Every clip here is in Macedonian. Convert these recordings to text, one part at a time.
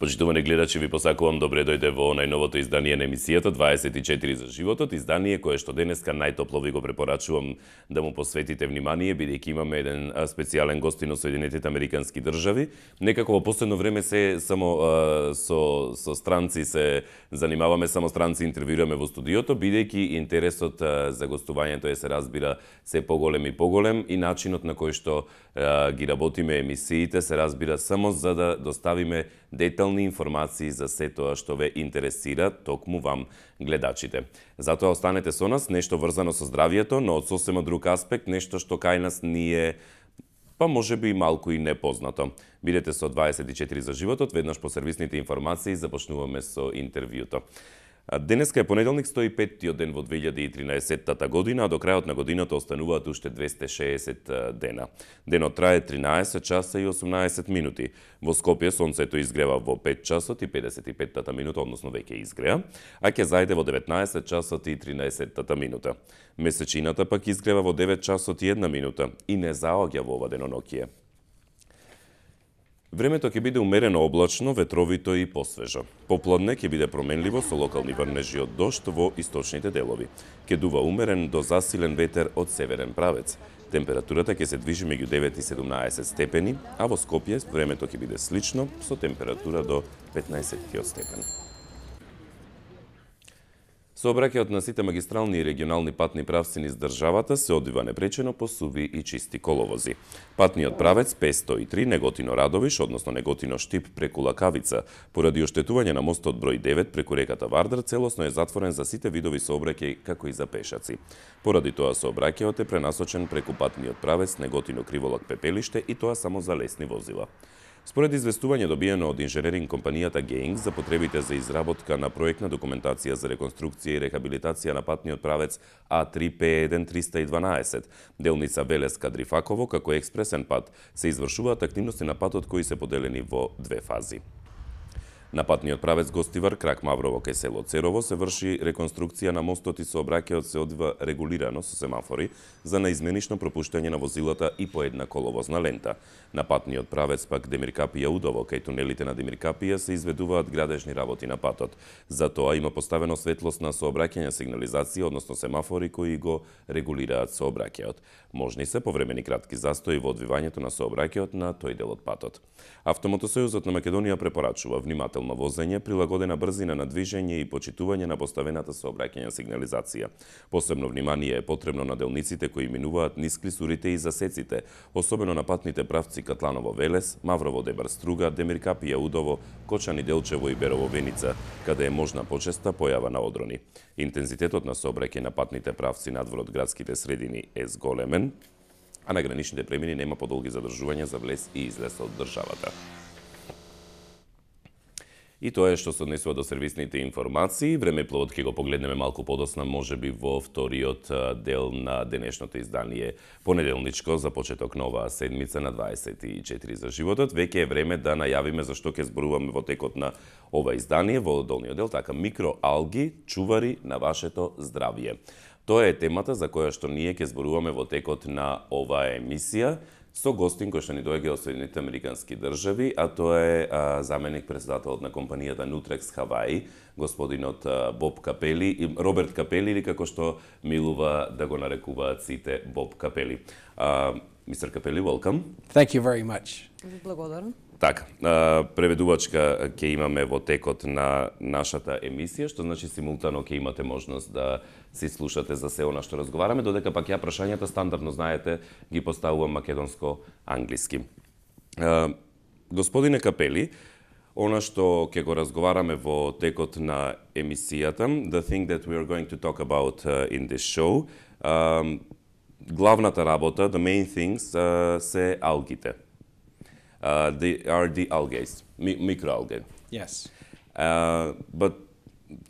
Почитувани гледачи, ви посакувам добре дојде во најновото издание на емисијата 24 за животот, издание кое што денеска најтопло ви го препорачувам да му посветите внимание, бидејќи имаме еден специјален гостин од Соединетите Американски држави. Некако во последно време се само со странци се занимаваме, само странци интервјуираме во студиото, бидејќи интересот за гостувањето се разбира се поголем и поголем и начинот на кој што ги работиме емисиите се разбира само за да доставиме детални информации за се тоа што ве интересира, токму вам гледачите. Затоа останете со нас, нешто врзано со здравието, но од сосема друг аспект, нешто што кај нас ни е па може би малку и непознато. Бидете со 24 за животот, веднаш по сервисните информации започнуваме со интервјуто. Денеска е понеделник, 105-тиот ден во 2013 година, а до крајот на годината остануваат уште 260 дена. Денот трае 13 часа и 18 минути. Во Скопје сонцето изгрева во 5 часот и 55 минута, односно веќе изгреа, а ќе зајде во 19 часот и 13 минута. Месечината пак изгрева во 9 часот и 1 минута и не заоѓа во ова деноноќие. Времето ќе биде умерено облачно, ветровито и посвежо. Попладне ќе биде променливо со локални врнежи од дожд во источните делови. Ќе дува умерен до засилен ветер од северен правец. Температурата ќе се движи меѓу 9 и 17 степени, а во Скопје времето ќе биде слично со температура до 15 степен. Сообраќајот на сите магистрални и регионални патни правци низ државата се одвива непречено по суви и чисти коловози. Патниот правец П103 Неготино-Радовиш, односно Неготино-Штип преку Лакавица, поради оштетување на мостот број 9 преку реката Вардар, целосно е затворен за сите видови сообраќај, како и за пешаци. Поради тоа сообраќајот е пренасочен преку патниот правец Неготино-Криволак-Пепелиште и тоа само за лесни возила. Според известување добиено од инженеринг компанијата Геинг за потребите за изработка на проектна документација за реконструкција и рехабилитација на патниот правец А3П1-312, делница Велес-Кадрифаково како експресен пат, се извршуваат активности на патот кои се поделени во две фази. На патниот правец Гостивар, крак Маврово кај село Церово се врши реконструкција на мостот и сообраќајот се одвива регулирано со семафори за наизменично пропуштање на возилата и по една коловозна лента. На патниот правец пак Демиркапија Удово, кај тунелите на Демиркапија се изведуваат градежни работи на патот. За тоа има поставено светлосна сообраќајна сигнализација, односно семафори кои го регулираат сообраќајот. Можни се повремени кратки застои во одвивањето на сообраќајот на тој дел од патот. Автомотосојузот на Македонија препорачува внимателно возење, прилагодена брзина на движење и почитување на поставената сообраќајна сигнализација. Посебно внимание е потребно на делниците кои минуваат низ клисурите и засеците, особено на патните правци Катланово-Велес, Маврово-Дебар-Струга, Демиркапија-Удово, Кочани-Делчево и Берово-Веница, каде е можна почеста појава на одрони. Интензитетот на сообраќај на патните правци надвор од градските средини е зголемен, а на граничните премини нема подолги задржувања за влез и излез од државата. И тоа е што се однесува до сервисните информации. Времепловот ќе го погледнеме малку подосна, можеби во вториот дел на денешното издание понеделничко за почеток на оваа седмица на 24 за животот. Веќе е време да најавиме за што ќе зборуваме во текот на ова издание, во долниот дел, така микроалги, чувари на вашето здравје. Тоа е темата за која што ние ќе зборуваме во текот на оваа емисија со гостин кој што ни доаѓа од Соединетите Американски држави, а тоа е заменик председателот на компанијата Nutrex Hawaii, господинот Боб Капели и Роберт Капели, или како што милува да го нарекуваат сите Боб Капели. Мистер Капели, welcome. Thank you very much. Благодарам. Така, преведувачка ќе имаме во текот на нашата емисија, што значи симултано ќе имате можност да си слушате за се она што разговараме, додека пак ја прашањата стандардно знаете ги поставувам македонско-англиски. Господине Капели, она што ќе го разговараме во текот на емисијата, the thing that we are going to talk about in this show, главната работа, the main things, се алгите. They are the algae, microalgae. Yes. But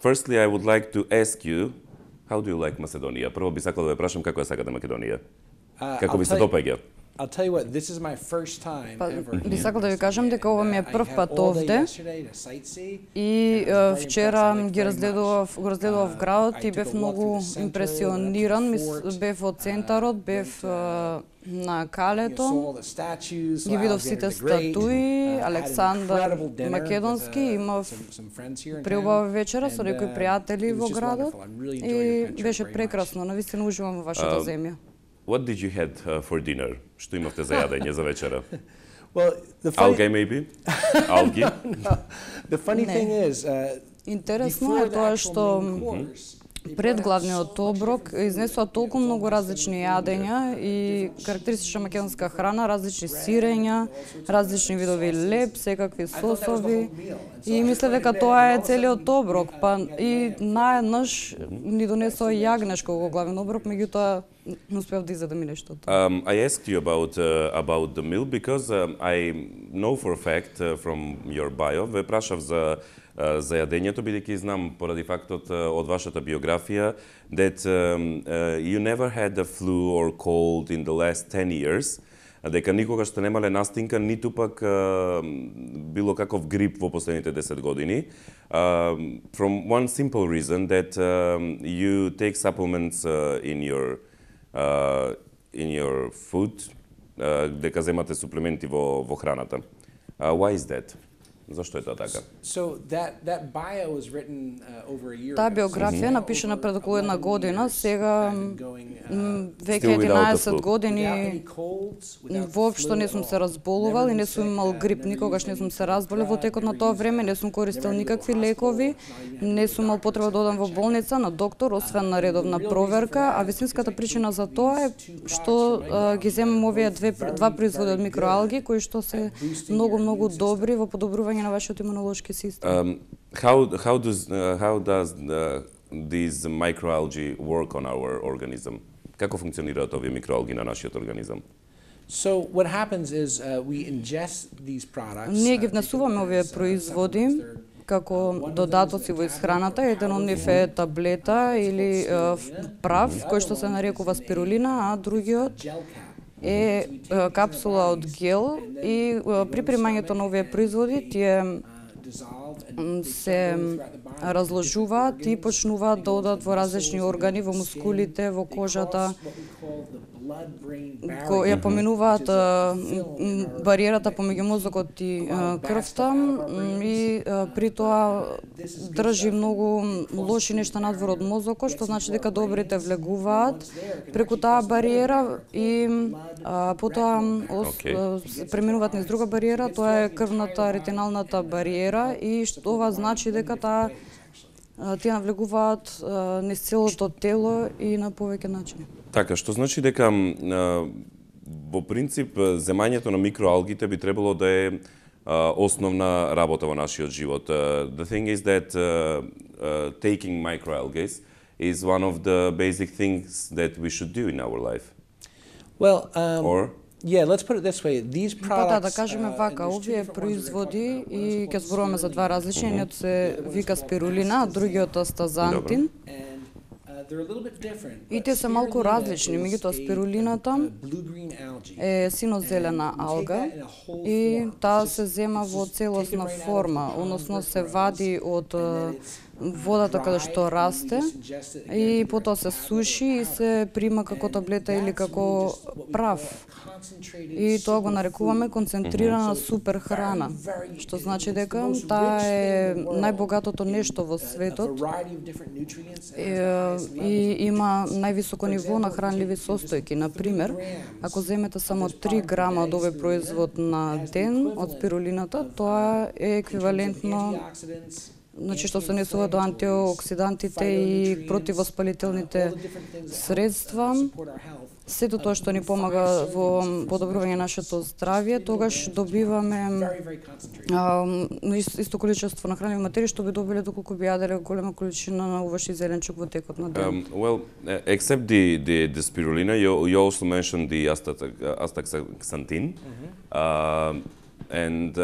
firstly, I would like to ask you, how do you like Macedonia? Прво би сакал да ве прашам како ја сакате Македонија? Како ви се допаѓа? I'll tell you what, this is my first time ever. Би сакал да ви кажам дека ова ми е прв пат овде. И вчера ги разгледував градот и бев многу импресиониран. Бев од центарот, бев на Калето. Ги видов сите статуи, Александар Македонски, имав преубава вечера со некои пријатели во градот и беше прекрасно, навистина уживам во вашата земја. What did you had for dinner? Што имавте за јадење за вечера? Well, Algae maybe? Algae? No. The funny thing is, интересно е тоа што пред главниот оброк изнесува толку многу различни јадења и карактеристична македонска храна, различни сирења, различни видови леб, секакви сосови. И мислев дека тоа е целиот оброк, па и наеднаш ни донесоа јагнешко во главен оброк, меѓутоа не успеав да изедам и нешто. I asked you about the meal because I know for a fact from your bio, ве прашав за јадењето, бидејќи знам поради фактот од вашата биографија that you never had a flu or cold in the last 10 years, дека никогаш сте немале настинка, ниту пак било каков грип во последните 10 години. From one simple reason that you take supplements in your food, дека земате суплементи во храната. Why is that? Зашто е тоа така? Таа биографија напишана пред околу една година, сега веќе 11 години воопшто не сум се разболувал и не сум имал грип, никогаш не сум се разболел во текот на тоа време, не сум користел никакви лекови, не сум имал потреба да одам во болница на доктор, освен на редовна проверка, а вистинската причина за тоа е што ги земам овие два производи од микроалги кои што се многу добри во подобрување на вашиот имунолошки систем. How does these microalgae work on our organism? Како функционираат овие микроалги на нашиот организам? So what happens is we ingest these products. Ние ги внесуваме овие производи како додатоци во исхраната. Еден од нив е таблета или прав кој што се нарекува спирулина, а другиот е капсула од гел и при примањето на овие производи тие се разложуваат и почнуваат да одат во различни органи, во мускулите, во кожата, ја поминуваат бариерата помеѓу мозокот и крвта и при тоа држи многу лоши нешта надвор од мозокот, што значи дека добрите влегуваат преку таа бариера и потоа преминуваат низ друга бариера, тоа е крвната ретиналната бариера и што ова значи дека тие навлегуваат низ целото тело и на повеќе начини. Така, што значи дека во принцип земањето на микроалгите би требало да е основна работа во нашиот живот. The thing is that taking microalgae is one of the basic things that we should do in our life. Well, or yeah, let's put it this way. These products, да кажеме вака, овие производи и ќе зборуваме за два различни, едниот се вика спирулина, а другиот астазантин. И те се малку различни, меѓутоа спирулината е сино-зелена алга и таа се зема во целосна форма, односно се вади од водата каде што расте и потоа се суши и се прима како таблета или како прав. И тоа го нарекуваме концентрирана супер храна, што значи дека таа е најбогатото нешто во светот и има највисоко ниво на хранливи состојки. Например, ако земете само 3 грама од овој производ на ден од спирулината, тоа е еквивалентно, значи што се несува до антиоксидантите и противоспалителните средства, сето тоа што ни помага во подобрување на нашето здравје, тогаш добиваме исто количество на хранливи материи што би добиле доколку би јаделе голема количина на овош и зеленчук во текот на ден. Well, except the spirulina, you also mentioned the astaxanthin. And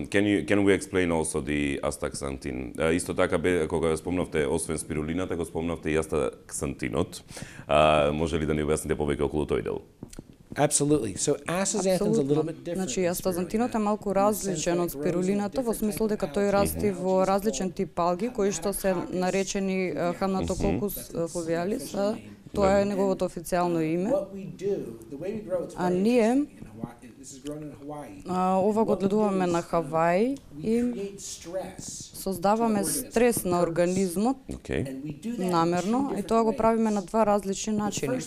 can we explain also the astaxanthin? Исто така кога спомнавте освен спирулината, го спомнавте и астаксантинот. Може ли да ни објасните повеќе околу тој дел? Absolutely. So astaxanthin's a little bit different. Значи, астазантинот е малку различен од спирулината во смисло дека тој расти во различен тип алги кои што се наречени Hamnatococcus fovealis, тоа е неговото официјално име. А ние ова го гледуваме на Хаваи и создаваме стрес на организмот намерно и тоа го правиме на два различни начини.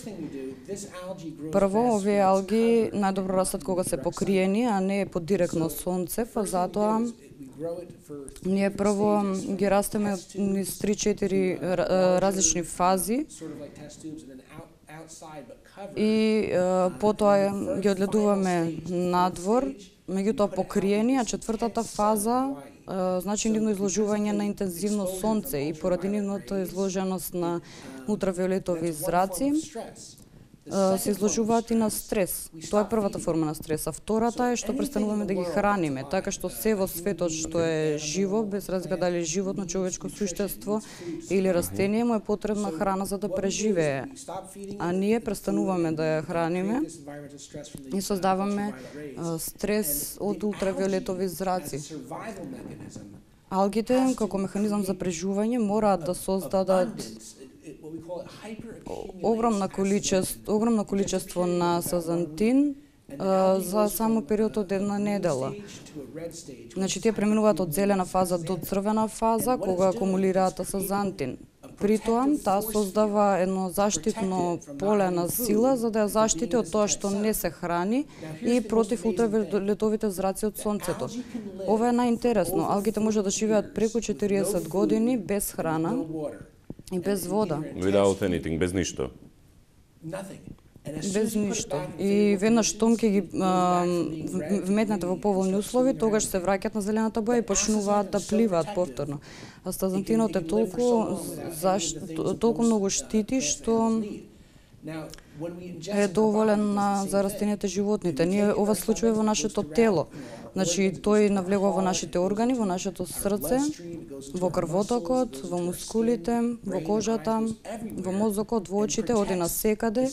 Прво, овие алги најдобро растат кога се покриени, а не под директно сонце, па затоа ние прво ги растеме низ 3-4 различни фази и потоа ги одгледуваме надвор, меѓутоа покриени, а четвртата фаза значи нивно изложување на интензивно сонце и поради нивното изложеност на ултравиолетови зраци се изложуваат и на стрес. Тоа е првата форма на стрес. А втората е што престануваме да ги храниме, така што се во светот што е живо, без разлика дали е животно, човечко суштество или растение, му е потребна храна за да преживее. А ние престануваме да ја храниме и создаваме стрес од ултравиолетови зраци. Алгите, како механизам за преживување, мораат да создадат огромно количество на сазантин за само период од една недела. Значи, тие преминуваат од зелена фаза до црвена фаза, кога акумулираат сазантин. При тоа, таа создава едно заштитно поле на сила за да ја заштити од тоа што не се храни и против ултравиолетовите зраци од сонцето. Ова е најинтересно. Алгите може да живеат преку 40 години без храна и без вода. Without anything, без ништо. Без ништо. И веднаш штом ќе ги вметнете во поволни услови, тогаш се враќаат на зелената боја и почнуваат да пливаат повторно. Астазантинот е толку многу штити што е доволен за растенијата и животните. Ние ова случува во нашето тело. Значи, тој навлегува во нашите органи, во нашето срце, во крвотокот, во мускулите, во кожата, во мозокот, во очите, оди на секаде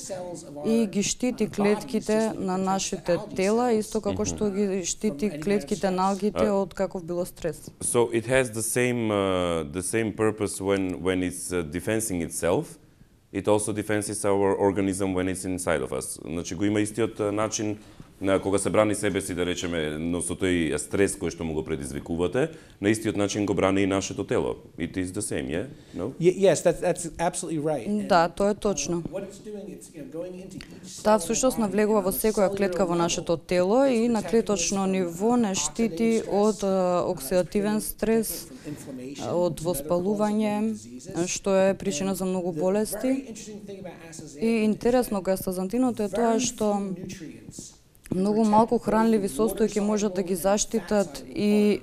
и ги штити клетките на нашите тела, исто како што ги штити клетките на алгите од каков било стрес. So it has the same purpose when it's defending itself. It also defends our organism when it's inside of us. Значи го има истиот начин на кога се брани себе си, да речеме, но со тој стрес кој што му го предизвикувате, на истиот начин го брани и нашето тело. It is the same, yeah? No? Yes, that's absolutely right. Да, тоа е точно. Таа всушност навлегува во секоја клетка во нашето тело и на клеточно ниво не штити од оксидативен стрес, од воспалување, што е причина за многу болести. И интересно кај астазантинот е тоа што многу малку хранливи состојки можат да ги заштитат и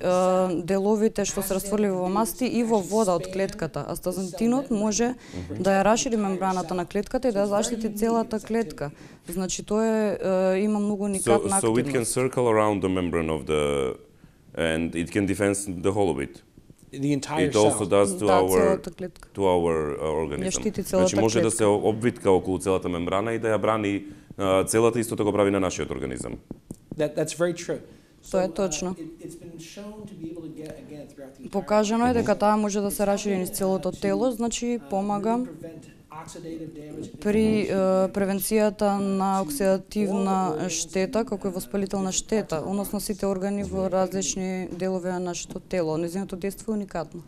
деловите што се растворливи во масти и во вода од клетката. Астазантинот може да ја расшири мембраната на клетката и да ја заштити целата клетка. Значи тоа има многу уникатна активност. So it can circle around the membrane of and it can defend the whole of it. The entire it also does to our organism. Значи може да се обвитка околу целата мембрана и да ја брани целата, истото го прави на нашиот организам. That's very true. Тоа е точно. Покажано е дека таа може да се расшири низ целото тело, значи помага при превенцијата на оксидативна штета, како и воспалителна штета, односно сите органи во различни делови на нашето тело. Нејзиното дејство е уникатно.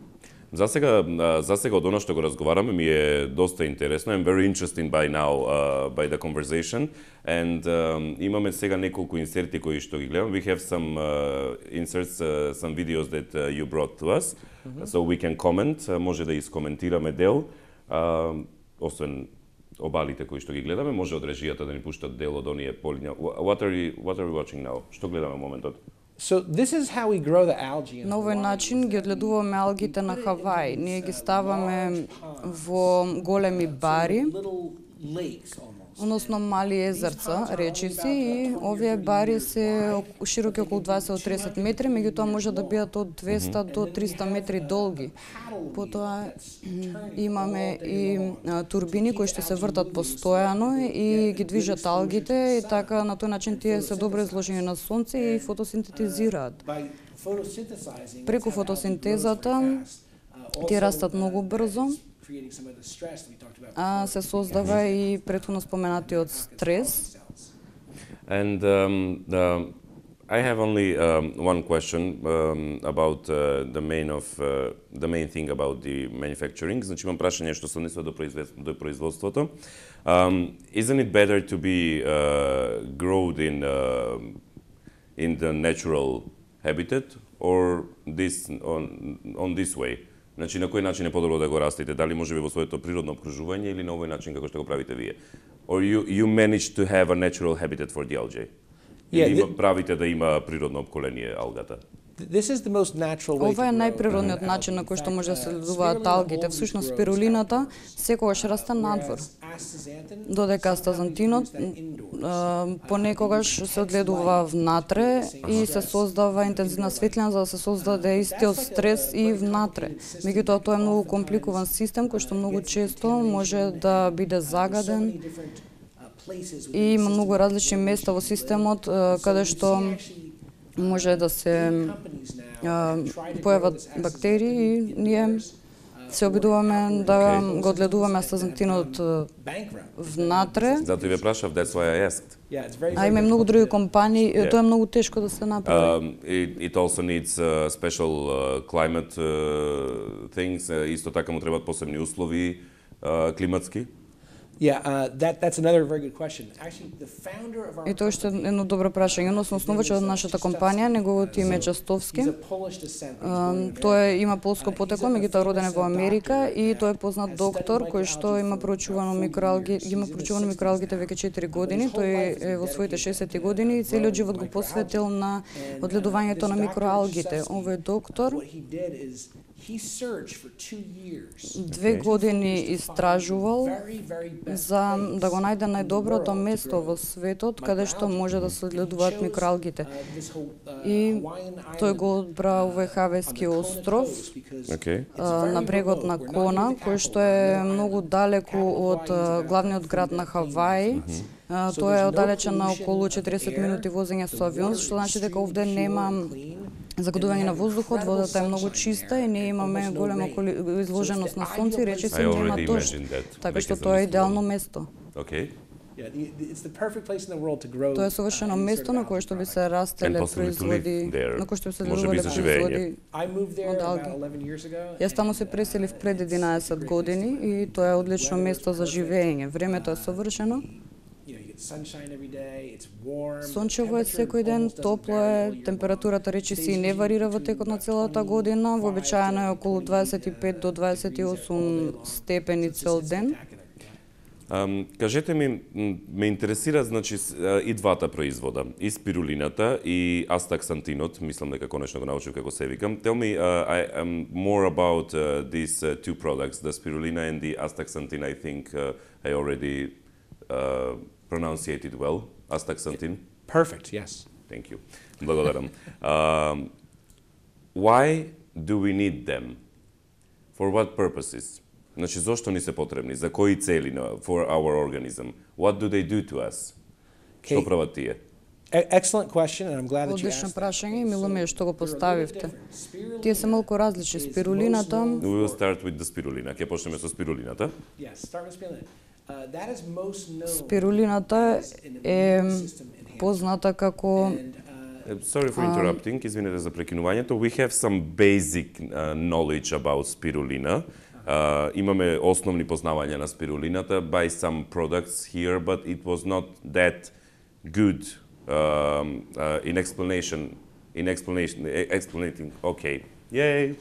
За сега од она што го разговараме ми е доста интересно. I'm very interested by now by the conversation and имаме сега неколку инсерти кои што ги гледам. We have some inserts, some videos that you brought to us, so we can comment. Може да искоментираме дел. Освен обалите кои што ги гледаме, може од режијата да ни пуштат дел од оние полиња. What are we watching now? Што гледаме моментот? So this is how we grow the algae. На овој начин ги одгледуваме алгите на Хаваи. Ние ги ставаме во големи бари, односно мали езерца, речиси, и овие бари се широки околу 20 до 30 метри, меѓутоа може да бидат од 200 до 300 метри долги. Потоа имаме и турбини кои што се вртат постојано и ги движат алгите, и така на тој начин тие се добро изложени на сонце и фотосинтетизираат. Преку фотосинтезата тие растат многу брзо, а се создава и претходно споменатиот стрес. And I have only one question about the main thing about the manufacturing. Значи имам прашање што се однесува до производството. Isn't it better to be grown in the natural habitat or on this way? Значи, на кој начин е подобро да го растите? Дали може би во своето природно окружување или на овој начин како што го правите вие? Or you manage to have a natural habitat for the algae? Или правите да има природно опколение алгата? Ова е најприродниот начин на кој што може да се следуваат алгите. Всушност спирулината секогаш расте надвор. Додека астазантинот понекогаш се одгледува внатре и се создава интензивна светлина за да се создаде истиот стрес и внатре. Меѓутоа тоа е многу компликуван систем кој што многу често може да биде загаден и има многу различни места во системот каде што може да се појават бактерии и ние се обидуваме да го одгледуваме астазантинот внатре. Затоа ве прашав, that's why I asked. А има многу други компании, тоа е многу тешко да се направи. It also needs special climate things. Исто така му требаат посебни услови климатски. That's another very good question. Actually, the founder of our И тоа што е едно добро прашање, односно основачот од нашата компанија, неговото име е Частовски. Тој има полско потекло, меѓутоа роден е во Америка и тој е познат доктор кој што има проучувано микроалгите веќе 4 години. Тој е во своите 60 години и целиот живот го посветил на одгледувањето на микроалгите. Овој доктор 2 години истражувал за да го најде најдоброто место во светот каде што може да се одгледуваат микроалгите. И тој го одбра овој Хавајски остров на брегот на Кона, кој што е многу далеку од главниот град на Хаваи. Тоа е оддалечен на околу 40 минути возење со авион, што значи дека овде нема загадување на воздухот, водата е многу чиста и ние имаме голема изложеност на сонце и речиси нема дожд. Така што тоа е идеално место. Тоа е совршено место на кое што би се растеле производи, на кое што би се одгледувале производи од алги. Јас таму се преселив пред 11 години и тоа е одлично место за живење. Времето е совршено. Сончево е секој ден, топло е, температурата речиси не варира во текот на целата година, вообичаено е околу 25 до 28 степени цел ден. Кажете ми, ме интересира, значи, и двата производа, и спирулината, и астаксантинот, мислам дека конечно го научив како се викам. Tell me more about these two products, the spirulina and the astaxanthin. I think I already pronunciated well, astaxanthin. Perfect, yes. Thank you. Благодарам. Why do we need them? For what purposes? Значи, зошто ни се потребни? За кои цели for our organism? What do they do to us? Што прават тие? Excellent question, and I'm glad that you Одлично asked прашање и мило ми е што го поставивте. Тие се малку различни. Спирулината... We will start with the spirulina. Ќе почнеме со спирулината. Yes, start with spirulina. That is most known. Спирулината е позната како Sorry for interrupting, извинете за прекинувањето. We have some basic knowledge about spirulina. Имаме основни познавања на спирулината by some products here, but it was not that good in explaining. Okay, yay!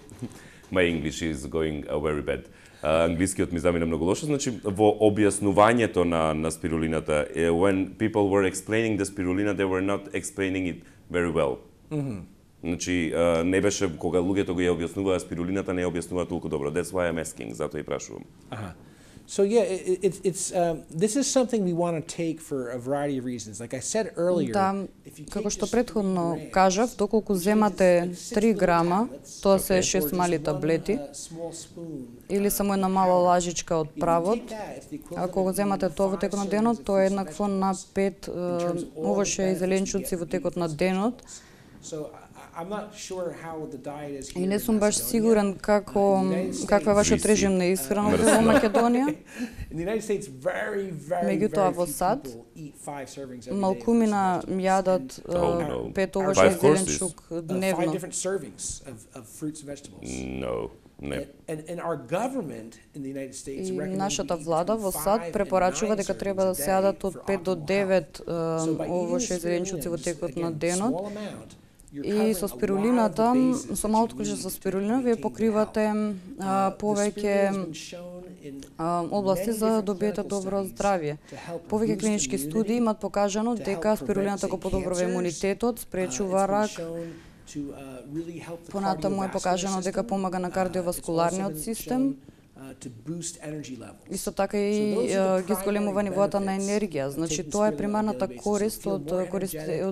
My English is going very bad. Англискиот ми замина многу лошо. Значи, во објаснувањето на спирулината, when people were explaining the spirulina, they were not explaining it very well. Значи, не беше, кога луѓето го ја објаснуваа спирулината, не ја објаснуваа толку добро. That's why I'm asking, затоа и прашувам. So yeah, this is something we want to take for a variety of reasons. Like I said earlier, како што претходно кажав, доколку земате 3 грама, тоа се 6 мали таблети, или само една мала лажичка од правот, ако го земате тоа во текот на денот, тоа е еднакво на 5 овоше и зеленчуци во текот на денот. И не сум баш сигурен каква е вашиот режим на исхрана во Македонија. Меѓутоа во САД малкумина јадат 5 овошје и зеленчук дневно. И нашата влада во САД препорачува дека треба да се јадат од 5 до 9 овошје и зеленчуци во текот на денот. И со спирулината, со малото количество со спирулина, вие покривате повеќе области за да добиете добро здравје. Повеќе клинички студии имат покажано дека спирулината го подобрува имунитетот, спречува рак. Понатаму е покажано дека помага на кардиоваскуларниот систем. Исто така и ги зголемува нивоата на енергија. Значи тоа е примарната корист од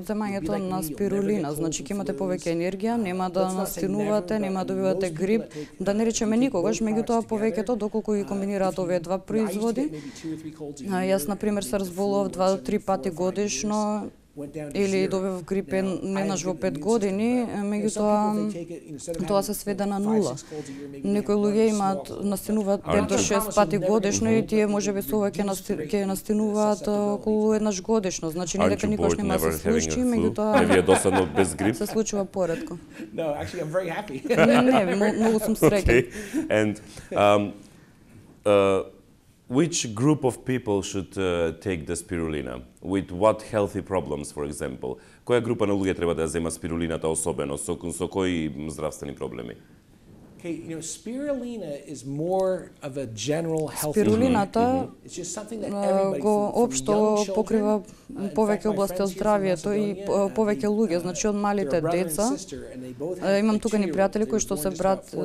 земањето на спирулина. Значи ќе имате повеќе енергија, нема да настинувате, нема да добивате грип, да не речеме никогаш, меѓутоа повеќето доколку ги комбинираат овие два производи. Јас на пример се разболував 2 до 3 пати годишно, или добив грип еднаш во 5 години, меѓутоа тоа се сведе на нула. Некои луѓе имаат настинуваат 5 до 6 пати годишно и тие можеби со ова ќе настинуваат околу еднаш годишно. Значи не дека никош нема се случи, меѓутоа не ви е досадно без грип? Се случува поретко. No, actually I'm very happy. Не, многу сум среќен. And which group of people should take the spirulina? With what healthy problems, for example? Која група на луѓе треба да ја зема спирулината особено? Со кои здравствени проблеми? Okay, spirulina is more of a general health. Спирулината го општо покрива повеќе области од здравјето и повеќе луѓе, значи од малите деца. Имам тука ни пријатели кои што се брат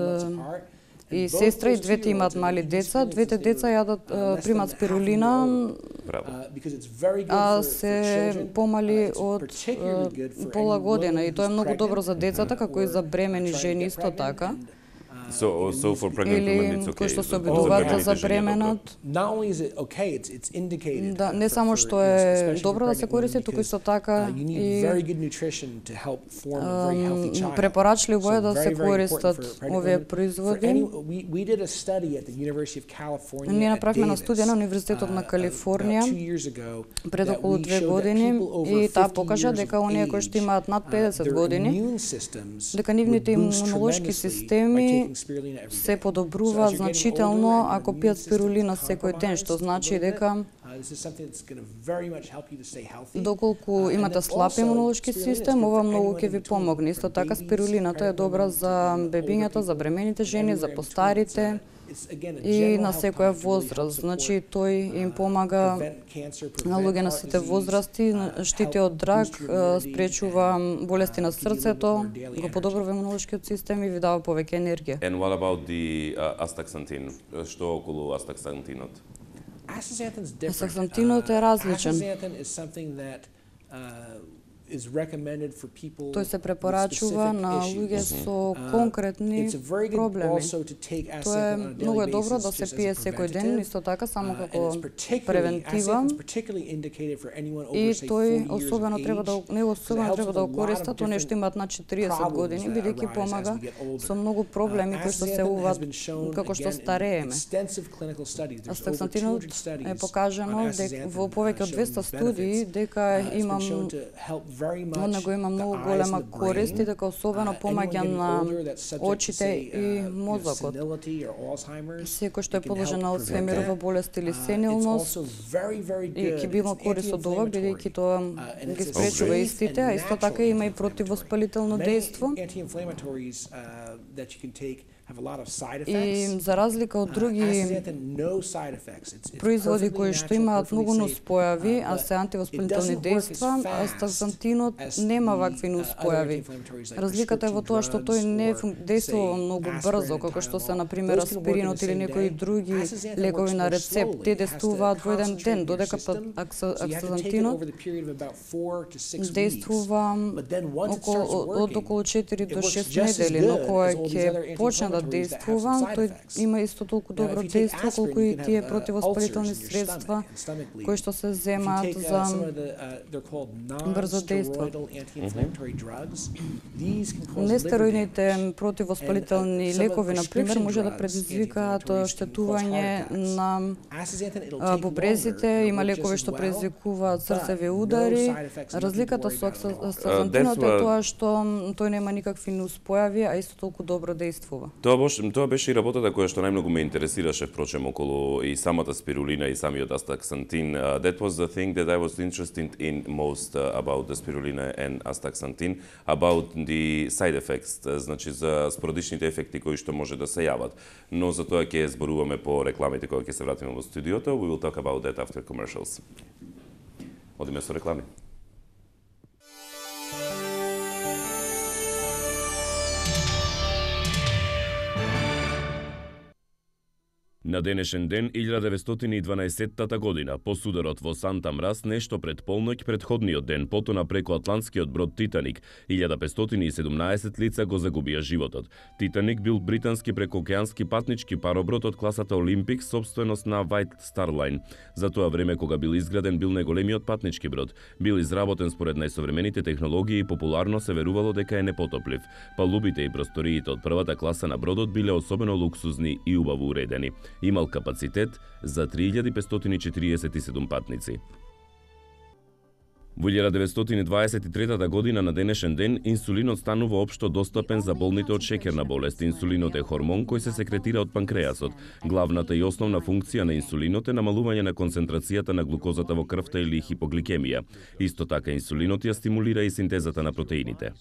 и сестра, и двете имаат мали деца. Двете деца примат спирулина, а се помали од пола година. И тоа е многу добро за децата, како и за бремени жени исто така. Или кои што се обидуваат да забременат. Не само што е добро да се користи, туку исто така и препорачливо е да се користат овие производи. Ние направивме на студија на Универзитетот на Калифорнија пред околу 2 години и таа покажа дека оние кои што имаат над 50 години, дека нивните имунолошки системи се подобруваат значително ако пијат спирулина секој ден, што значи дека доколку имате слаб имунолошки систем, ова многу ќе ви помогне. Исто така спирулината е добра за бебињата, за бремените жени, за постарите и на секоја возраст. Значи тој им помага на луѓе на сите возрасти, штити од рак, спречува болести на срцето, го подобрува имунолошкиот систем и ви дава повеќе енергија. And what about the astaxanthin? Што околу астаксантинот? Астаксантинот е различен. Тој се препорачува на луѓе со конкретни проблеми. Тоа е многу добро да се пие секој ден, исто така само како превентива. И тој особено треба да го користат оние што имаат над 40 години, бидејќи помага со многу проблеми кои што се уват како што старееме. Астаксантинот е покажано во повеќе од 200 студии дека од него има многу голема корист и дека особено помаѓа на очите и мозокот. Секој што е подложен на Алцхаймерова болест или сенилност и ќе би имал корист од ова, бидејќи тоа ги спречува истите, а исто така има и противоспалително дејство. И за разлика од други производи кои што имаат многу нуспојави, а се антивоспалителни дејства, астаксантинот нема вакви нуспојави. Разликата е во тоа што тој не дејствува многу брзо, како што се на пример аспиринот или некои други лекови на рецепт. Те дејствуваат во еден ден, додека астаксантинот дејствува од околу 4 до 6 недели, но кога ќе почне да дејствува, тој има исто толку добро дејство колку и тие противоспалителни средства кои што се земаат за брзо дејство. Нестероидните противоспалителни лекови, на пример, може да предизвикаат оштетување на бубрезите, има лекови што предизвикуваат срцеви удари. Разликата со астаксантинот е тоа што тој нема никакви нуспојави, а исто толку добро дејствува. Тоа беше и работата која што најмногу ме интересираше, впрочем, околу и самата спирулина и самиот астаксантин. That was the thing that I was interested in most about the spirulina and astaxanthin, about the side effects, значи за спорадичните ефекти кои што може да се јават. Но за тоа ќе зборуваме по рекламите кога ќе се вратиме во студиото. We will talk about that after commercials. Одиме со реклами. На денешен ден, 1912 година, по сударот во Санта Мраз, нешто пред полноќ претходниот ден, потона преку атлантскиот брод Титаник, 1517 лица го загубија животот. Титаник бил британски прекоокеански патнички пароброд од класата Олимпик, собственост на White Star Line. За тоа време кога бил изграден, бил најголемиот патнички брод. Бил изработен според најсовремените технологии и популарно се верувало дека е непотоплив. Палубите и просториите од првата класа на бродот биле особено луксузни и убаво уредени. Имал капацитет за 3547 патници. Во 1923 година на денешен ден инсулинот станува општо достапен за болните од шеќерна болест. Инсулинот е хормон кој се секретира од панкреасот. Главната и основна функција на инсулинот е намалување на концентрацијата на глукозата во крвта или хипогликемија. Исто така инсулинот ја стимулира и синтезата на протеините.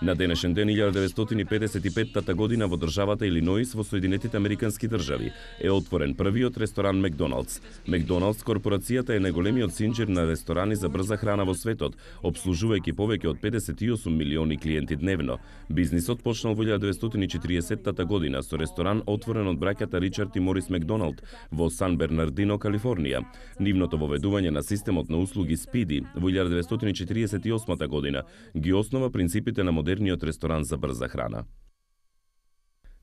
На денешен ден 1955 година во државата Илиноис во Соединетите Американски држави е отворен првиот ресторан Макдоналдс. Макдоналдс корпорацијата е најголемиот синџир на ресторани за брза храна во светот, обслужувајќи повеќе од 58 милиони клиенти дневно. Бизнисот почнал во 1940 година со ресторан отворен од браќата Ричард и Морис Макдоналд во Сан Бернардино, Калифорнија. Нивното воведување на системот на услуги Спиди во 1948 година ги основа принципите на модерниот ресторан за брза храна.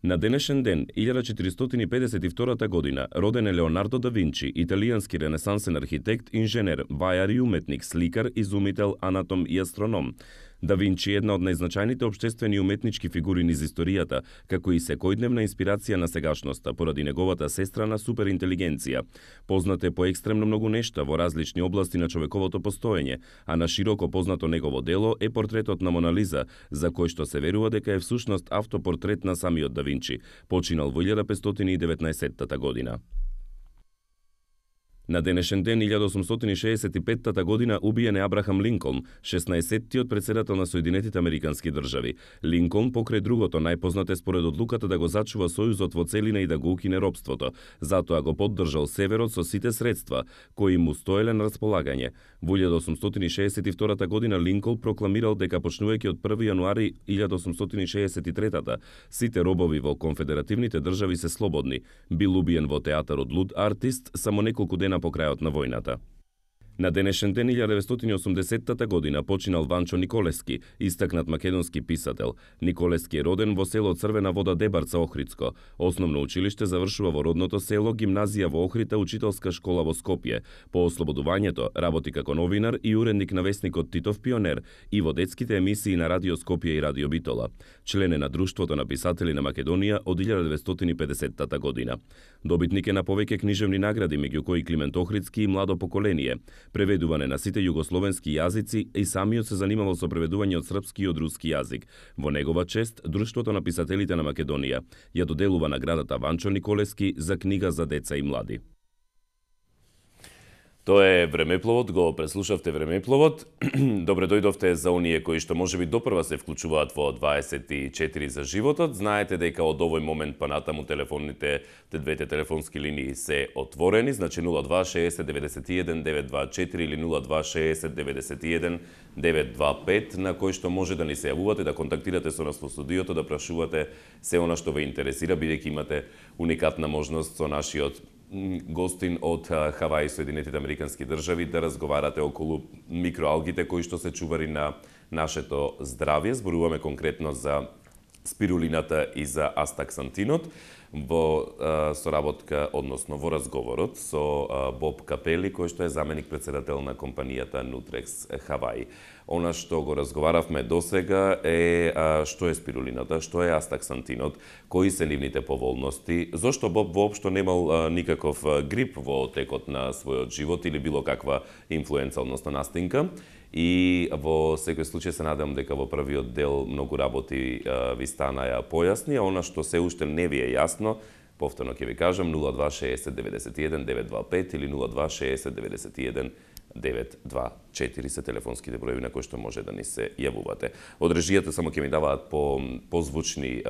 На денешен ден, 1452 година, роден е Леонардо да Винчи, италијански ренесансен архитект, инженер, вајар и уметник, сликар, изумител, анатом и астроном. Да Винчи е една од најзначајните општествени и уметнички фигури низ историјата, како и секојдневна инспирација на сегашноста, поради неговата сестрана суперинтелигенција. Познат е по екстремно многу нешта во различни области на човековото постоење, а на широко познато негово дело е портретот на Мона Лиза, за кој што се верува дека е всушност автопортрет на самиот Да Винчи, починал во 1519 година. На денешен ден, 1865 година, убиен е Абрахам Линколн, 16-тиот председател на Соединетите Американски држави. Линколн, покрај другото, најпознат е според одлуката да го зачува Сојузот во целина и да го укине робството. Затоа го поддржал Северот со сите средства, кои му стоеле на располагање. Во 1862 година Линколн прокламирал дека почнувајќи од 1 јануари 1863 сите робови во конфедеративните држави се слободни. Бил убиен во театарот Луд Артист само неколку дена по крајот на војната. На денешен ден 1980 година починал Ванчо Николески, истакнат македонски писател. Николески е роден во село Црвена вода Дебарца, Охридско. Основно училиште завршува во родното село, гимназија во Охрита, учителска школа во Скопје. По ослободувањето работи како новинар и уредник на весникот Титов Пионер и во детските емисии на Радио Скопје и Радио Битола. Член е на Друштвото на писатели на Македонија од 1950 година. Добитник е на повеќе книжевни награди, меѓу кои Климент Охридски и Младо поколение. Преведуване на сите југословенски јазици и самиот се занимавал со преведување од српски и од руски јазик. Во негова чест, Друштвото на писателите на Македонија ја доделува наградата Ванчо Николески за книга за деца и млади. Тоа е Времепловот, го преслушавте Времепловот. Добре дојдовте за оние кои што можеби допрва се вклучуваат во 24 за животот. Знаете дека од овој момент па натаму двете телефонски линии се отворени, значи 0260 91 924 или 0260 91 925, на кој што може да ни се јавувате, да контактирате со нас во студиото, да прашувате се она што ве интересира, бидејќи имате уникатна можност со нашиот гостин од Хаваи и Соединетите Американски држави да разговарате околу микроалгите кои што се чувари на нашето здравје. Зборуваме конкретно за спирулината и за астаксантинот во соработка, односно во разговорот со Боб Капели, кој што е заменик председател на компанијата Nutrex Хаваи. Она што го разговаравме досега е што е спирулината, што е астаксантинот, кои се нивните поволности, зошто Боб воопшто немал никаков грип во текот на својот живот или било каква инфлуенца, односно настинка. И во секој случај се надам дека во првиот дел многу работи ви станаја појасни, а она што се уште не ви е јасно, повторно ќе ви кажам, 0260 91 925 или 0260 91 924 се телефонските броеви на кои што може да ни се јавувате. Од режијата само ќе ми даваат позвучни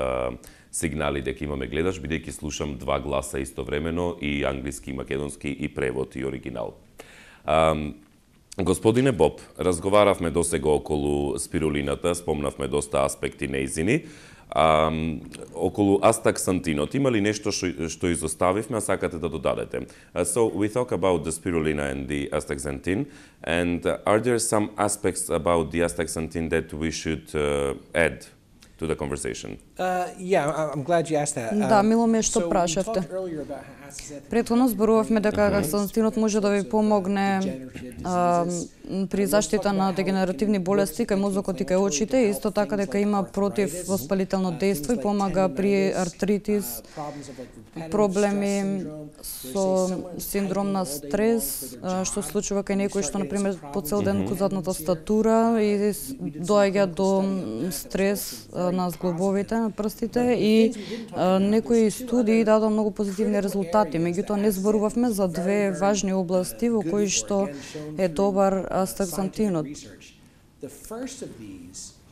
сигнали дека имаме гледач, бидејќи слушам два гласа истовремено, и англиски, и македонски, и превод, и оригинал. Господине Боб, разговаравме досега околу спирулината, спомнавме доста аспекти нејзини. Околу астаксантинот, има ли нешто што изоставивме, а сакате да додадете? So we talk about the spirulina and the astaxanthin, and are there some aspects about the astaxanthin that we should add to the conversation? Yeah, I'm glad you asked that. Да, мило ми е што прашавте. Претходно зборувавме дека астаксантинот може да ви помогне при заштита на дегенеративни болести кај мозокот и кај очите, исто така дека има противвоспалително дејство и помага при артритис, проблеми со синдром на стрес, што се случува кај некои што, например, по цел ден кузатната статура и доаѓа до стрес на зглобовите на прстите, и некои студии дадоа многу позитивни резултати. Меѓутоа не зборувавме за две важни области во кои што е добар астаксантинот.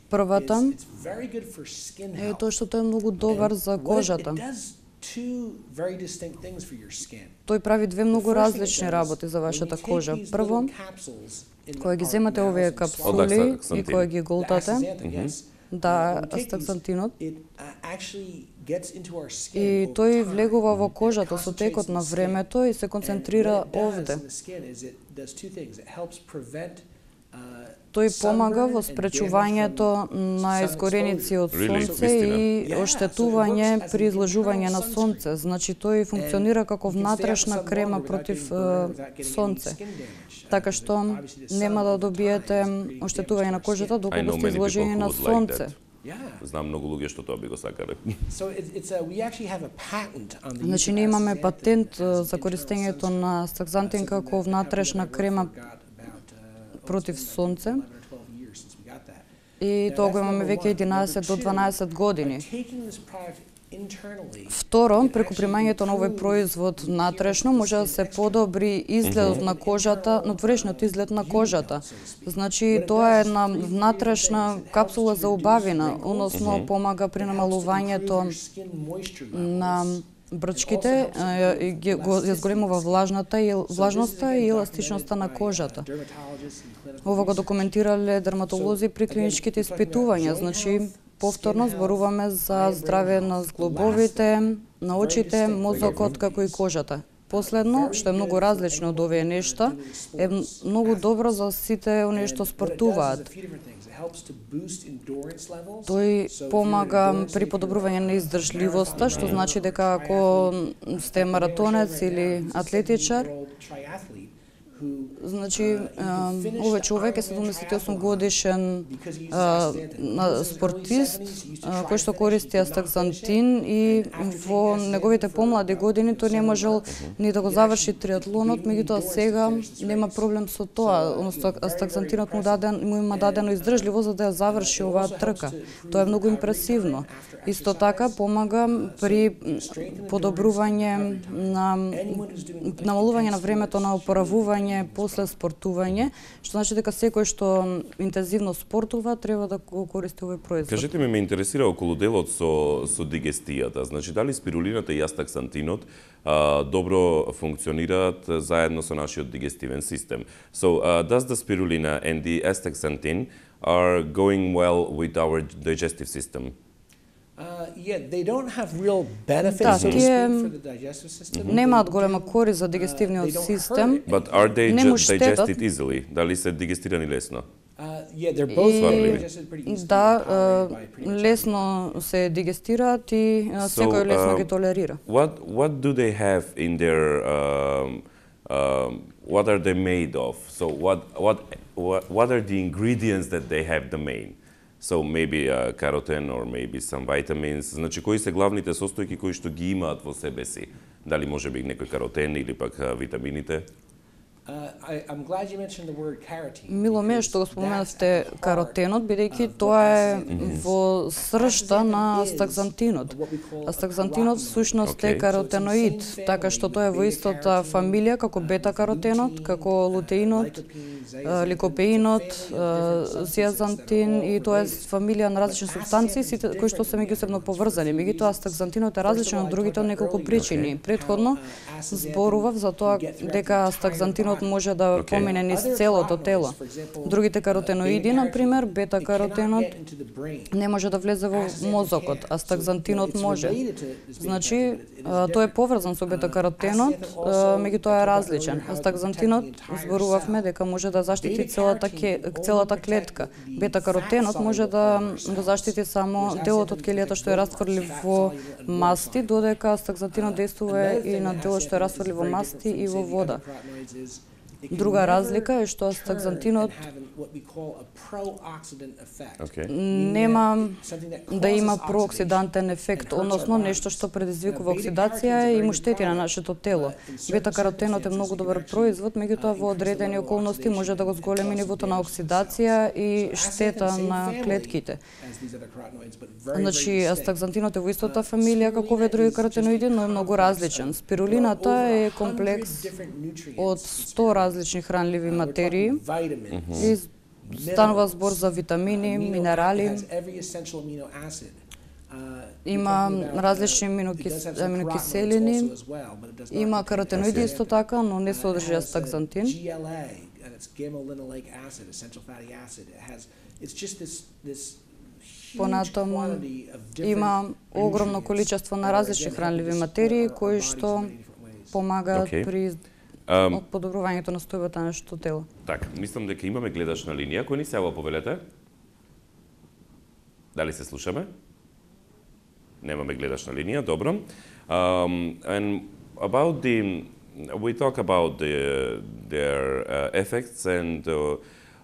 Првата е тоа што тој е многу добар за кожата. Тој прави две многу различни работи за вашата кожа. Прво, кога ги земате овие капсули и кога ги голтате, да, астаксантинот, и тој влегува во кожата со текот на времето и се концентрира овде. Тој помага во спречувањето на изгореници од сонце и оштетување при изложување на сонце. Значи тој функционира како внатрешна крема против сонце. Така што нема да добиете оштетување на кожата доколку сте изложени на сонце. Знам многу луѓе што тоа би го сакале. Значи ние имаме патент за користењето на астаксантин како внатрешна крема против сонце. И тоа го имаме веќе 11 до 12 години. Второ, преку примањето на овој производ внатрешно може да се подобри изгледот на кожата, надворешниот изглед на кожата. Значи тоа е една внатрешна капсула за убавина, односно помага при намалувањето на брчките, ја зголемува влажноста и еластичноста на кожата. Ова го документирале дерматолози при клиничките испитувања, значи повторно зборуваме за здравје на зглобовите, на очите, мозокот, како и кожата. Последно, што е многу различно од овие нешта, е многу добро за сите оние што спортуваат. Тој помага при подобрување на издржливоста, што значи дека ако сте маратонец или атлетичар, Значи, овој човек е 78 годишен спортист, кој што користи астаксантин и во неговите помлади години тој не можел ни да го заврши триатлонот, меѓутоа сега нема проблем со тоа, односно астаксантинот му има дадено издржливо за да ја заврши оваа трка. Тоа е многу импресивно. Исто така помага при подобрување на намалување на времето на опоравување после спортување, што значи дека секој што интензивно спортува треба да го користи овој производ. Кажете ме интересира околу делот со дигестијата. Значи дали спирулината и астаксантинот добро функционираат заедно со нашиот дигестивен систем. So does the spirulina and the astaxanthin are going well with our digestive system? Yeah, they don't have real benefits so to speak for the digestive system. Немаат голема корист за дигестивниот систем. But are they digested easily? Дали се дигестирани лесно? Yeah, they're both digested pretty easily. Да, лесно се дигестираат и секој лесно ги толерира. What do they have in their what are they made of? So what are the ingredients that they have the main? So maybe carotene or maybe some vitamins. Значи кои се главните состојки кои што ги имаат во себе си? Дали може би некој каротен или пак витамините? I'm glad you mentioned the word carotene. Мило ме што го споменавте каротенот, бидејќи тоа е во сршта на астаксантинот. Астаксантинот всушност е каротеноид, така што тоа е во истата фамилија како бета-каротенот, како лутеинот, ликопеинот, сиазантин и тоа е фамилија на различни супстанции кои што се меѓусебно поврзани. Меѓутоа астаксантинот е различен од другите од неколку причини. Претходно зборував за тоа дека астаксантинот може да помине низ целото тело. Другите каротеноиди, например, бета-каротенот не може да влезе во мозокот, астаксантинот може. Значи, тој е поврзан со бета-каротенот, меѓутоа е различен. Астаксантинот зборувавме дека може да заштити целата клетка. Бета-каротенот може да го заштити само делот од ќелијата што е растврлив во масти, додека астаксантинот действува и на делот што е растврлив во масти и во вода. Друга разлика е што астаксантинот нема да има прооксидантен ефект, односно нешто што предизвикува оксидација и му штети на нашето тело. Бета-каротенот е многу добар производ, меѓутоа во одредени околности може да го зголеми нивото на оксидација и штета на клетките. Значи, астаксантинот е во истата фамилија како овие други каротеноиди, но е многу различен. Спирулината е комплекс од 100 различни хранливи материи и станува збор за витамини, минерали. Има различни аминокиселини, има каротеноиди исто така, но не содржи астаксантин. Понатаму има огромно количество на различни хранливи материи кои што помагаат при подобрувањето на стојбата на нашето тело. Така, мислам дека имаме гледач на линија. Кој ни се јава, повелете? Дали се слушаме? Немаме гледач на линија, добро. And about we talk about their effects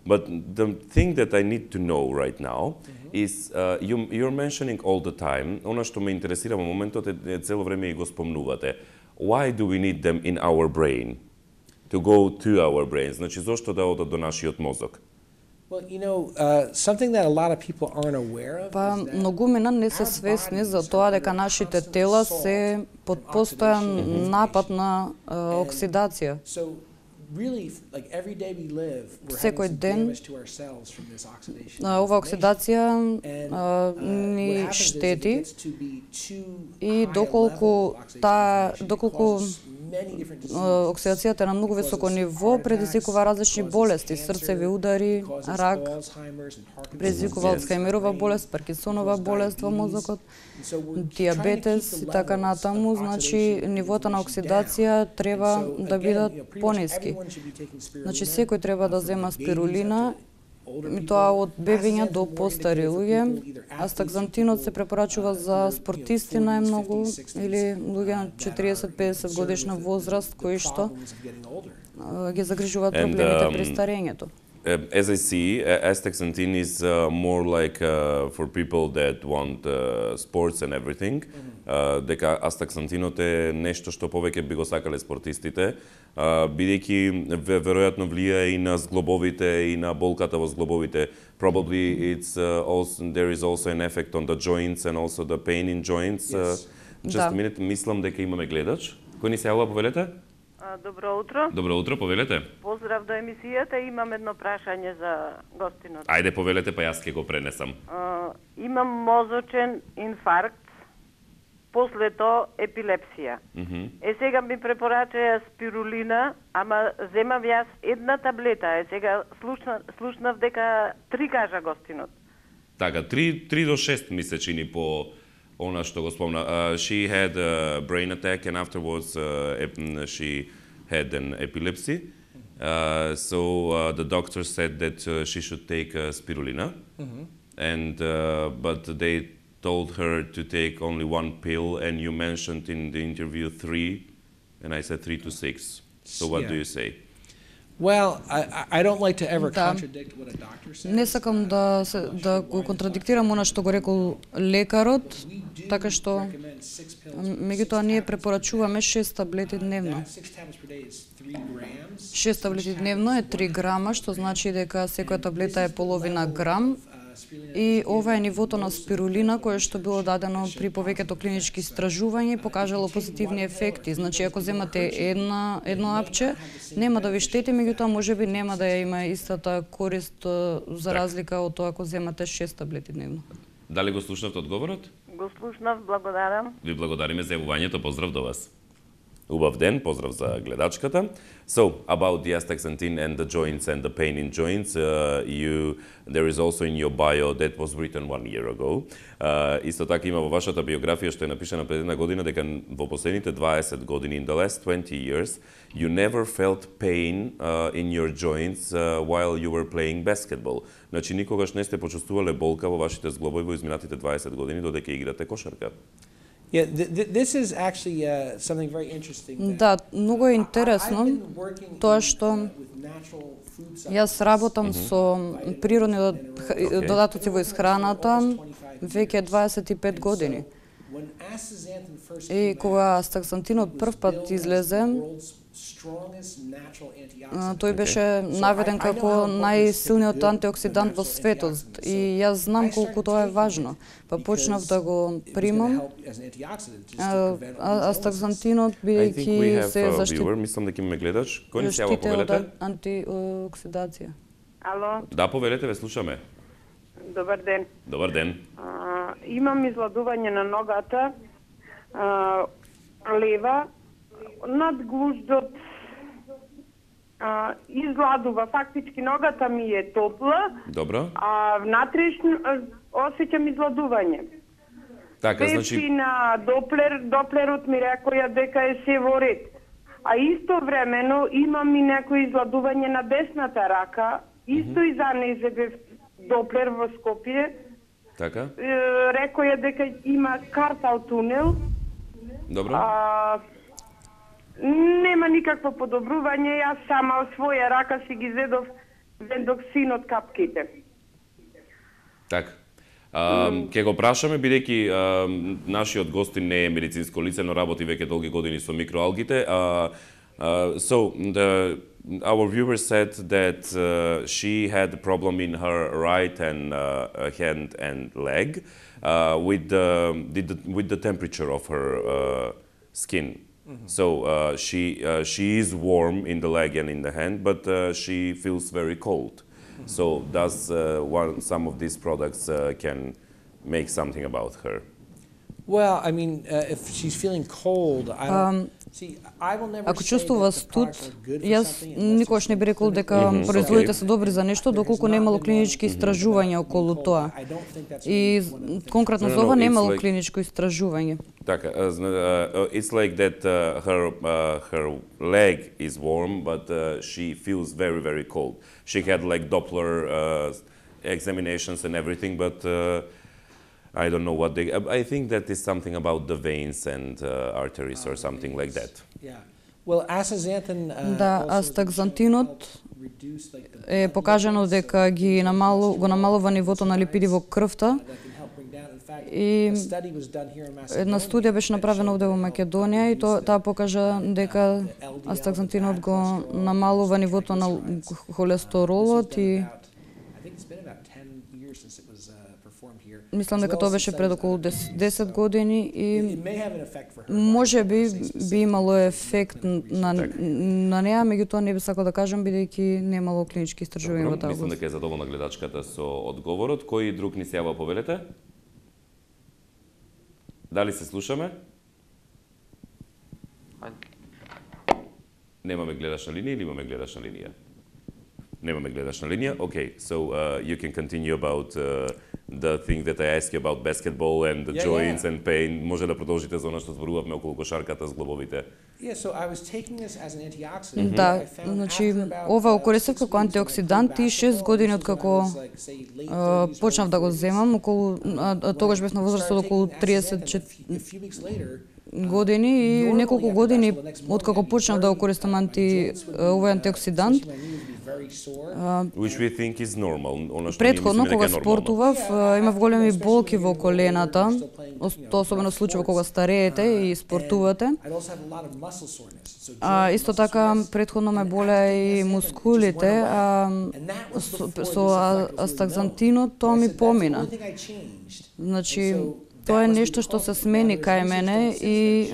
but the thing that I need to know right now is you're mentioning all the time, она што ме интересира во моментот е цело време и го спомнувате. Why do we need them in our brain? To go to our brains. Значи, зошто да одат до нашиот мозок? Well, you know, something that a lot of people aren't aware of. Па многумина не се свесни за тоа дека нашите тела се под постојан напад на оксидација. Секој ден ова оксидација ни штети и доколку оксидацијата е на многу високо ниво предизвикува различни болести, срцеви удари, рак, предизвикува Алцхајмерова болест, Паркинсонова болест во мозокот, диабетес и така натаму. Значи, нивото на оксидација треба да бидат пониски. Значи, секој треба да зема спирулина тоа од бебиња до постари луѓе. Астаксантинот се препорачува за спортисти најмногу или луѓе на 40-50 годишна возраст кои што ги загрижуваат проблемите при старењето. As I see, astaxanthin is more like for people that want sports and everything. Дека астаксантинот е нешто што повеќе би го сакале спортистите, бидејќи веројатно влијае и на зглобовите и на болката во зглобовите. Probably there is also an effect on the joints and also the pain in joints. Just a minute, мислам дека имаме гледач. Кој ни се јавува, повелете? Добро утро. Добро утро, повелете. Поздрав до емисијата, имам едно прашање за гостинот. Ајде, повелете, па јас ќе го пренесам. Имам мозочен инфаркт, после тоа епилепсија. Сега ми препорачаја спирулина, ама земам јас една таблета. Сега слушнав дека 3 кажа гостинот. Така, 3 до 6 ми се чини по она што го спомна. She had a brain attack and afterwards she had an epilepsy. So the doctor said that she should take spirulina, and but they told her to take only 1 pill, and you mentioned in the interview 3, and I said 3 to 6. So what do you say? Well, I don't like to ever contradict what a doctor says. Не сакам да го контрадиктирам она што го рекол лекарот, така што меѓутоа ние препорачуваме 6 таблети дневно. 6 таблети дневно е 3 грама, што значи дека секоја таблета е половина грам. И ова е нивото на спирулина кое што било дадено при повеќето клинички истражувања и покажало позитивни ефекти. Значи ако земате едно апче, нема да ви штети, меѓутоа можеби нема да ја има истата корист за разлика од тоа ако земате 6 таблети дневно. Дали го слушнавте одговорот? Го слушнав, благодарам. Ви благодариме за јавувањето, поздрав до вас. Убав ден, поздрав за гледачката. So, about the astaxanthin and the joints and the pain in joints, there is also in your bio that was written 1 year ago. Исто така има во вашата биографија што е напишана пред една година дека во последните 20 години, in the last 20 years, you never felt pain in your joints while you were playing basketball. Значи никогаш не сте почувствувале болка во вашите зглобови во изминатите 20 години додека играте кошарка. Yeah, this is actually something very interesting. Да, многу е интересно тоа што јас работам со природни додатоци во исхраната веќе 25 години. И кога астаксантинот прв пат излезе, тој беше наведен како најсилниот антиоксидант во светот и јас знам колку тоа е важно. Па почнав да го примам. Астаксантинот бидејќи се заштитува. Мислам дека имаме гледач. Кој ни се јава, повелете? Антиоксидација. Ало? Да, повелете, ве слушаме. Добар ден. Добар ден. Имам изладување на ногата, лева, над глуждот изладува, фактички ногата ми е топла, добро, а внатрешно осеќам изладување. Така, значи на доплерот ми рекоја дека е се во ред. А истовремено имам и некој изладување на десната рака, исто и за нејзе бев доплер во Скопје. Така. Рекоја дека има картал тунел. Добро. Нема никакво подобрување, јас сама од своја рака си ги зедов вендоксин од капките. Така. Ке го прашаме, бидејќи нашиот гостин не е медицинско лице, но работи веќе долги години со микроалгите. So, our viewer said that she had a problem in her right hand and leg with the temperature of her skin. So she is warm in the leg and in the hand, but she feels very cold. So does some of these products can make something about her? Well, I mean, if she's feeling cold, I don't see. I will never. Ако чувствува студ, јас никогаш не би рекол дека производите се добри за нешто доколку немало клинички истражувања околу тоа. И конкретно за ова немало клиничко истражување. Така, it's like that her leg is warm, but she feels very, very cold. She had like Doppler examinations and everything, but I don't know what they. I think that is something about the veins and arteries or something like that. Yeah. Well, astaxanthin. Да, астакзантинот е покажано дека го намалува нивото на липиди во крвта. И една студија беше направена овде во Македонија и таа покажа дека астакзантинот го намалува нивото на холестеролот и мислам дека тоа беше пред околу 10 години и може би имало ефект на неа, меѓутоа не би сакал да кажам бидејќи немало клинички истражувања во таа област. Мислам дека е задоволна гледачката со одговорот. Кој друг ни се јава, повелете? Дали се слушаме? Немаме гледачна линија или имаме гледачна линија? Немаме гледачна линија. Okay, so you can continue about the thing that I asked you about basketball and the joints and pain. Може да продолжите за она што зборувавме околу кошарката, зглобовите. Yeah, so I was taking this as an antioxidant. Да, значи ова го користев како антиоксидант и 6 години откако почнав да го земам, околу тогаш бев на возраст од околу 30 години и неколку години откако почнав да го користам овој антиоксидант. Which we think is normal. Предходно кога спортував, имав големи болки во колената, тоа особено случува кога стареете и спортувате. Исто така предходно ме болеа и мускулите, со астакзантинот тоа ми помина. Значи тоа е нешто што се смени кај мене и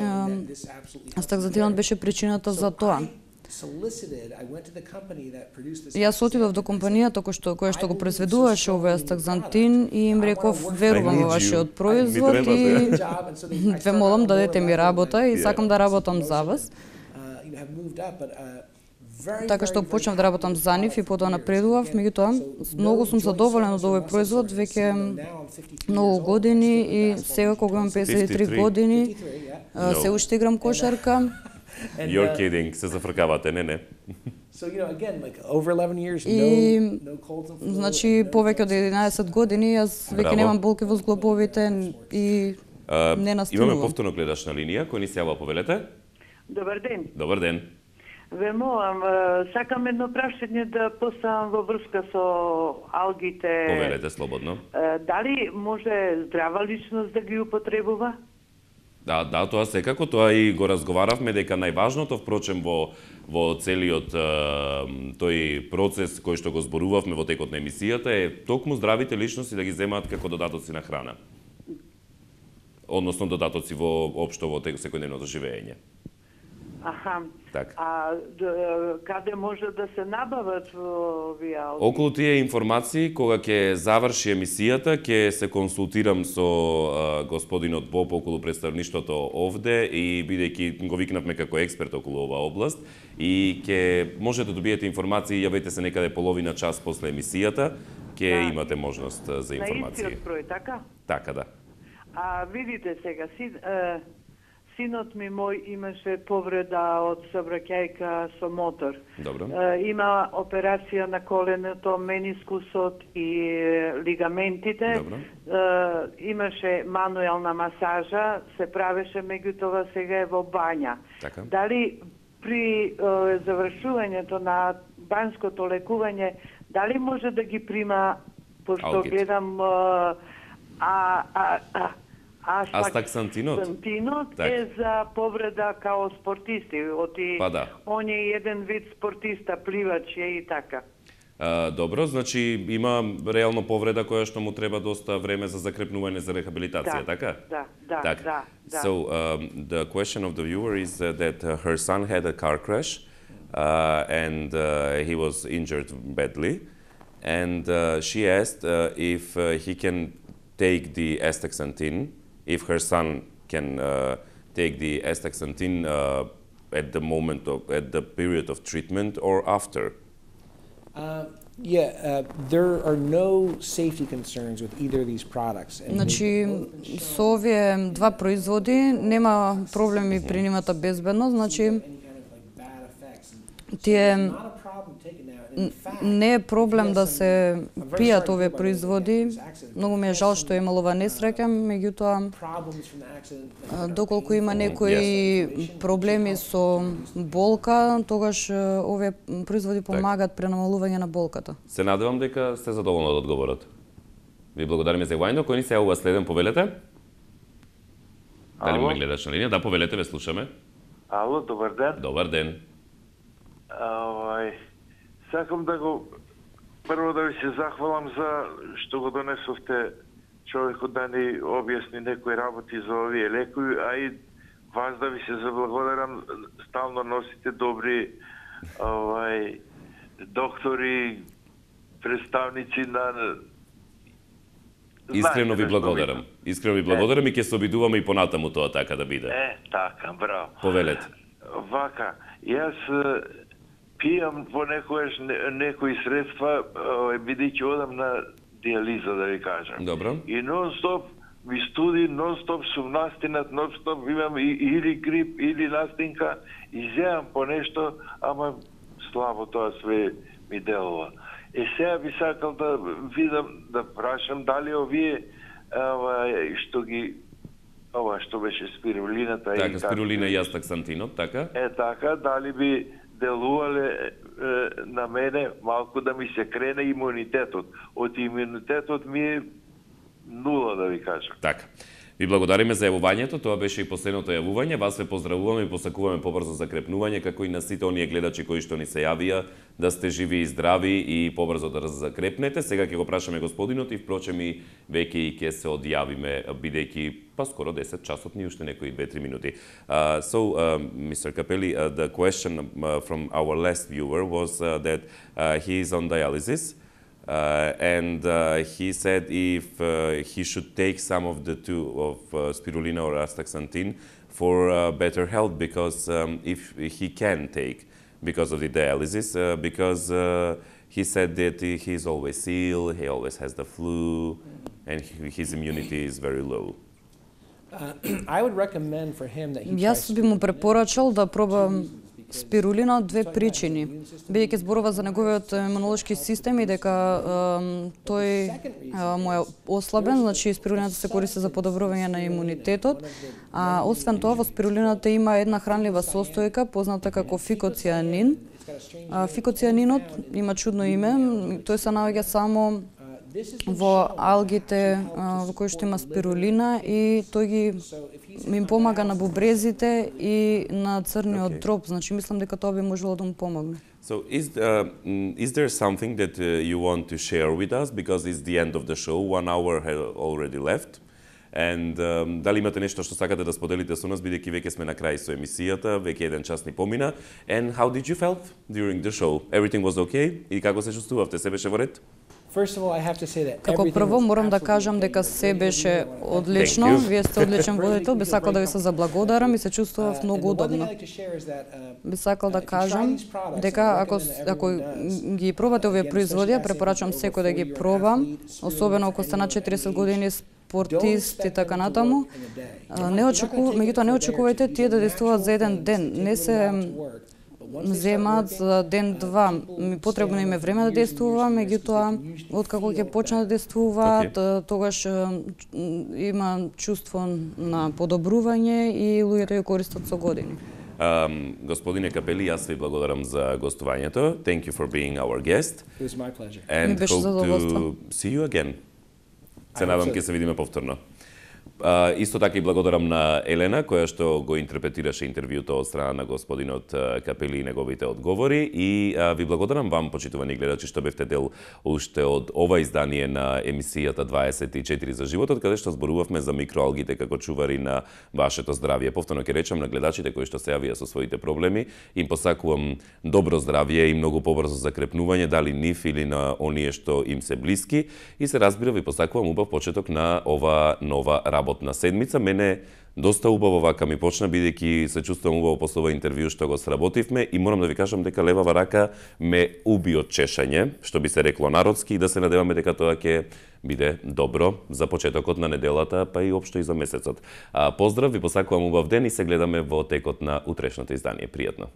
астакзантинот беше причината за тоа. Јас отидов до компанијата која што го произведуваше овој астакзантин и им реков верувам во вашиот производ и ве молам дадете ми работа и сакам да работам за вас. Така што почнав да работам за нив и потоа напредував, меѓутоа многу сум задоволен од овој производ веќе многу години и сега кога имам 53 години се уште играм кошарка. You're kidding, се зафркавате, не. So, you know, again, like over 11 years, no colds and flu. Значи повеќе од 11 години јас веќе немам болки во зглобовите и не настилувам. Имаме повторно гледачна линија, кој ни се јава, повелете? Добар ден. Добар ден. Ве молам, сакам едно прашање да поставам во врска со алгите. Повелете слободно. Дали може здрава личност да ги употребува? Да, тоа секако, тоа и го разговаравме дека најважното, впрочем, во целиот тој процес кој што го зборувавме во текот на емисијата е токму здравите личности да ги земаат како додатоци на храна. Односно додатоци општо во секојдневното живење. Аха. Так. А каде може да се набават овие алги? Околу тие информации, кога ќе заврши емисијата, ќе се консултирам со господинот Боб околу представништвото овде и бидејќи го викнавме како експерт околу оваа област и ќе можете да добиете информации, јавете се некаде половина час после емисијата, ќе имате можност за информација. На истиот број, така? Така, да. А видите сега, синот ми мој имаше повреда од сообраќајка со мотор. Добро. Има операција на коленото, менискусот и лигаментите. Добро. Имаше мануелна масажа, се правеше, меѓутоа сега е во бања. Така. Дали при завршувањето на банското лекување, дали може да ги прима, пошто гледам Астакзантинот е за повреда као спортисти, он е еден вид спортиста, пливач е и така. Добро, значи има реално повреда која што му треба доста време за закрепнување за рехабилитација, така? Да. So, the question of the viewer is that her son had a car crash and he was injured badly, and she asked if he can take the astaxanthin if her son can take the astaxanthin at the period of treatment or after? There are no safety concerns with either of these products. Значи, со овие два производи нема проблеми при нивната безбедност, значи тие не е проблем да се пијат овие производи. Многу ми е жал што е имало ова несреќа, меѓутоа доколку има некои проблеми со болка, тогаш овие производи помагаат при намалување на болката. Се надевам дека сте задоволни од одговорот. Ви благодариме за јавувањето. Кој ни се јавува следен, повелете? Дали ме гледаш на линија? Да, повелете, ве слушаме. Ало, добар ден. Добар ден. Сакам да го прво да ви се захвалам за што го донесовте човекот да ни објасни некои работи за овие лекови, а и вас да ви се заблагодарам, стално носите добри доктори, представници на Искрено ви благодарам. Искрено ви благодарам и ќе се обидуваме и понатаму тоа така да биде. Така, браво. Повелете. Вака, јас пијам понекогаш некои средства, бидејќи одам на диализа, да ви кажам. Добро. И нон-стоп ми студи, нон-стоп сум настинат, нон-стоп имам или грип, или настинка, и земам по нешто, ама слабо тоа све ми делува. Сега би сакал да видам, да прашам дали овие што ги што беше спирулината така, спирулина и астаксантинот, така? Така, дали би делувале на мене малку да ми се крене имунитетот. Од имунитетот ми е нула, да ви кажам. Така. Ви благодариме за јавувањето, тоа беше и последното јавување. Вас ве поздравуваме и посакуваме побрзо закрепнување, како и на сите оние гледачи кои што ни се јавија, да сте живи и здрави и побрзо да закрепнете. Сега ќе го прашаме господинот и впрочем и веќе и ќе се одјавиме, бидејќи скоро 10 часот, ни уште некои 2-3 минути. Mr. Capelli, the question from our last viewer was that he is on dialysis. And he said if he should take some of the two of spirulina or astaxanthin for better health, because if he can take because of the dialysis, because he said that he's always ill, he always has the flu, and his immunity is very low. I would recommend for him that he Јас би му препорачал да проба спирулина од две причини. Бидејќи зборува за неговиот имунолошки систем и дека тој му е ослабен, значи спирулината се користи за подобрување на имунитетот. А освен тоа, во спирулината има една хранлива состојка позната како фикоцианин. Фикоцианинот има чудно име, тој се наоѓа само во алгите во кои што има спирулина и тој ги им помага на бубрезите и на црниот дроб, значи мислам дека тоа би можело да му помогне. So is there something that you want to share with us, because it's the end of the show, 1 hour has already left, and дали имате нешто што сакате да споделите со нас, бидејќи веќе сме на крај со емисијата, веќе 1 час ни помина, and how did you felt during the show? Everything was okay? И како се чувствувавте? Се беше во ред? Како прво морам да кажам дека се беше одлично, вие сте одличен водител, би сакал да ви се заблагодарам и се чувствував многу удобно. Би сакал да кажам дека ако ги пробате овие производи, препорачувам секој да ги проба, особено ако сте на 40 години, спортист и така натаму. Меѓутоа не очекувајте тие да действуваат за еден ден, не се земаат за ден-два. Потребно им е време да действува, меѓутоа откако ќе почне да действуваат, тогаш има чувство на подобрување и луѓето ја користат со години. Господине Капели, јас ви благодарам за гостувањето. Thank you for being our guest. It was my pleasure. And hope to see you again. Се надам ќе се видиме повторно. Исто така и благодарам на Елена, која што го интерпретираше интервјуто од страна на господинот Капели и неговите одговори. И ви благодарам вам, почитувани гледачи, што бевте дел уште од ова издание на емисијата 24 за животот, каде што зборувавме за микроалгите како чувари на вашето здравје. Повторно ќе речам на гледачите кои што се јавија со своите проблеми, им посакувам добро здравје и многу побрзо закрепнување, дали нив или на оние што им се блиски. И се разбира, ви посакувам убав почеток на ова нова работа работна седмица. Мене доста убаво вака ми почна, бидејќи се чувствувам убаво после ова интервју што го сработивме и морам да ви кажам дека левава рака ме уби од чешање, што би се рекло народски, и да се надеваме дека тоа ќе биде добро за почетокот на неделата, па и општо и за месецот. Поздрав, ви посакувам убав ден и се гледаме во текот на утрешното издание. Пријатно.